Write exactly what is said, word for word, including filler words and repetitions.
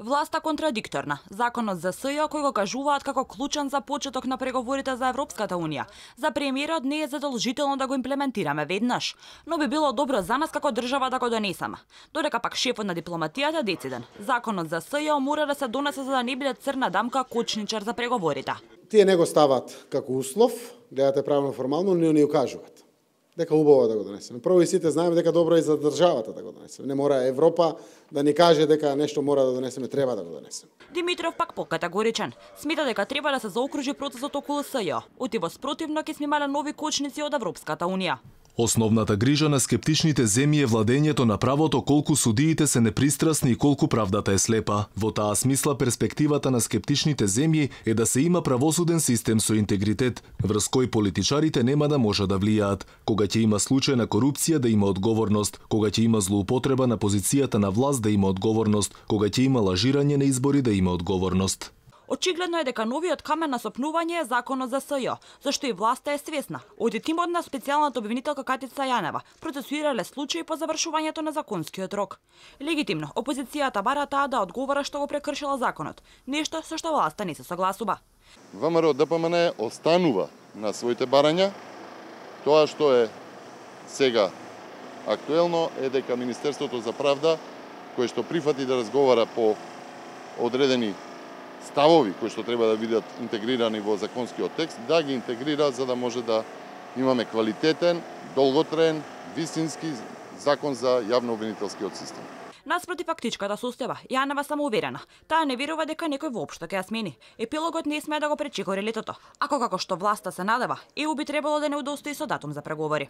Власта контрадикторна. Законот за СЈО кој го кажуваат како клучен за почеток на преговорите за Европската унија. За премиерот не е задолжително да го имплементираме веднаш, но би било добро за нас како држава да го донесеме. Додека пак шефот на дипломатијата дециден. Законот за СЈО мора да се донесе за да не биде црна дамка кочничар за преговорите. Тие не го стават како услов, гледате правно формално, но не ја кажуваат дека убаво да го донесеме. Прво и сите знаеме дека добро е за државата да го донесеме. Не мора Европа да ни каже дека нешто мора да донесеме, треба да го донесеме. Димитров пак покатегоричен. Смета дека треба да се заокружи процесот околу СЈО. Утиво спротивно ќе сме имале нови кочници од Европската унија. Основната грижа на скептичните земји е владењето на правото, колку судиите се непристрасни и колку правдата е слепа. Во таа смисла перспективата на скептичните земји е да се има правосуден систем со интегритет, врз кој политичарите нема да може да влијаат. Кога ќе има случај на корупција да има одговорност, кога ќе има злоупотреба на позицијата на власт да има одговорност, кога ќе има лажирање на избори да има одговорност. Очигледно е дека новиот камен на сопнување е законот за СЈО, зашто и власта е свесна. Од тимот на специјалната обвинителка Катица Јанева процесуирале случаи по завршувањето на законскиот рок. Легитимно, опозицијата бара таа да одговара што го прекршила законот, нешто со што власта не се согласува. ВМРО ДПМН останува на своите барања. Тоа што е сега актуелно е дека Министерството за правда, кое што прифати да разговара по одредени ставови кои што треба да бидат интегрирани во законскиот текст, да ги интегрира за да може да имаме квалитетен, долготраен, вистински закон за јавно-обвинителскиот систем. Наспроти фактичката состојба, Јанева самоуверена. Таа не верува дека некој воопшто ќе ја смени. Епилогот не смее да го пречекори летото. Ако како што власта се надева, ЕУ би требало да не удостои со датум за преговори.